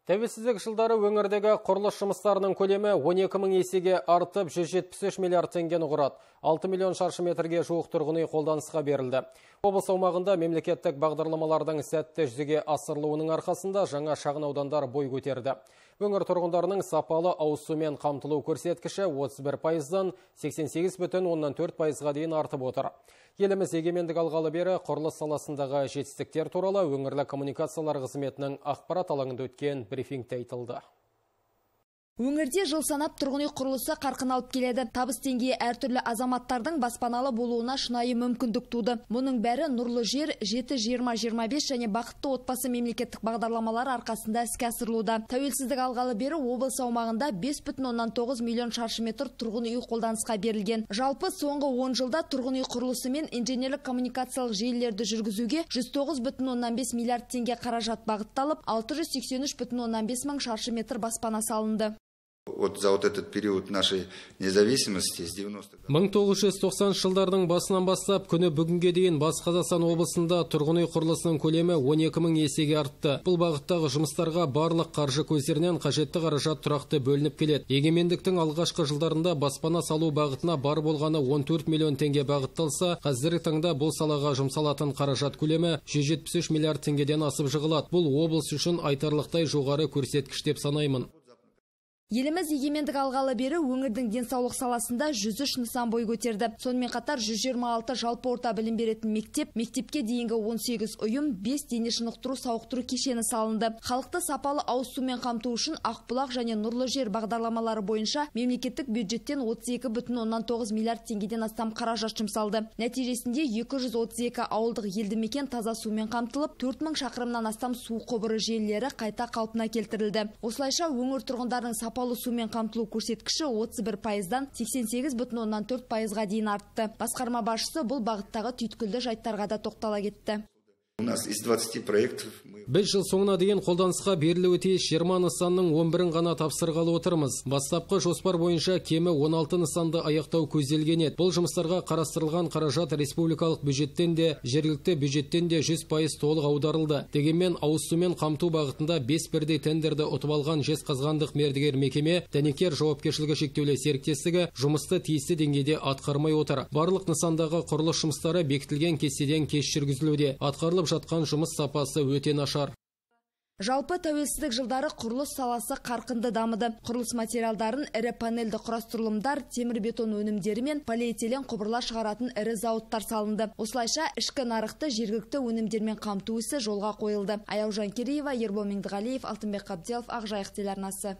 Тәуелсіздік жылдары өңірдегі құрылыс жұмыстарының көлемі 12 мың есеге артып 173 миллиард теңгені құрады. 6 миллион шаршы метрге жуық тұрғын үй қолданысқа берілді. Облыс аумағында мемлекеттік бағдарламалардың сәтті жүзеге асырылуының арқасында жаңа шағын аудандар бой көтерді. Өңір тұрғындарының сапалы ауыз сумен қамтылу көрсеткіші 31%-дан 88,4%-ға дейін артып отыр. Еліміз егемендік алғалы бері құрылыс саласындағы жетістіктер туралы өңірлік коммуникациялар қызметінің ақпарат алаңында өткен брифингте айтылды. Өңірде жыл санап тұрғын үй құрылысы қарқын алып келеді. Табыс деңгейі әртүрлі азаматтардың баспаналы болуына шынайы мүмкіндік туды. Мұның бәрі нұрлы жер, 7-20-25 және бақытты отбасы мемлекеттік бағдарламалар арқасында іске асырылуда. Тәуелсіздік алғалы бері облыс аумағында 5,9 миллион шаршы метр тұрғын үй қолданысқа берілген. Жалпы соңғы 10 жылда тұрғын үй құрылысы мен инженерлік коммуникациялық желілерді жүргізуге 109,5 миллиард теңге қаражат бағытталып, 683,5 мың шаршы метр баспана салынды. За этот период нашей независимости с 90-х. 1990 жылдардың басынан бастап күні бүгінге дейін Батыс Қазақстан облысында тұрғын үй құрылысының көлемі 12 мың есеге артты. Бұл бағыттағы жұмыстарға барлық қаржы көздерінен қажетті қаражат тұрақты бөлініп келеді. Егемендіктің алғашқы жылдарында баспана салу бағытына бар болғаны 14 миллион теңге бағытталса, қазіргі таңда бұл салаға жұмсалатын қаражат көлемі 173 миллиард теңгеден асып жығылады. Бұл облыс үшін айтарлықтай жоғары көрсеткіш деп санаймын. Еліміз егемендік алғалы бері өңірдің денсаулық саласында 103 нысан бой көтерді. Сонымен қатар 126 жалпы орта білім беретін мектеп, мектепке дейінгі 18 ұйым, 5 дене шынықтыру сауықтыру кешені салынды. Халықты сапалы ауыз сумен қамту үшін Ақбұлақ және Нұрлы жер бағдарламалары бойынша мемлекеттік бюджеттен 32,9 миллиард теңгеден астам қаражат жұмсалды. Нәтижесінде 232 ауылдық елді мекен таза сумен қамтылып, 4000 шақырымнан астам су құбыры желілері қайта қалпына келтірілді. Осылайша өңір тұрғындарының сапалы сумен қамтылу көрсеткіші 31%-дан 88,4%-ға дейін артты. Басқарма басшысы бұл бағыттағы түйткілді жайттарға да тоқтала кетті. У нас из 20 проектов Біз жыл соңына дейін қолданысқа берілуі тиіс 20 нысанның 11-ін ғана тапсырғалы отырмыз. Бастапқы жоспар бойынша кемі 16 нысанды аяқтау көзделген еді. Бұл жұмыстарға қарастырылған қаражат республикалық бюджеттен де, жергілікті бюджеттен де 100% толық аударылды. Дегенмен ауыз сумен қамту бағытында 5 бірдей тендерді ұтып алған Жезқазғандық мердігер мекеме Дәнекер жауапкершілігі шектеулі серіктестігі жұмысты тиісті деңгейде атқармай отыр. Барлық нысандағы құрылыс жұмыстары бекітілген кестеден кеш жүргізілуде. Атқарылып жатқан жұмыс сапасы өте нашар. Жалпы тәуелсіздік жылдары құрылыс саласы қарқынды дамыды. Құрылыс материалдарын ірі панельді құрастырылымдар, темір-бетон өнімдері мен полиэтилен құбырлар шығаратын ірі зауыттар салынды. Осылайша ішкі нарықты жергілікті өнімдермен қамту ісі жолға қойылды. Аяужан Кереева, Ербол Меңдіғалиев, Алтынбек Қабделов, Ақжайық телеарнасы.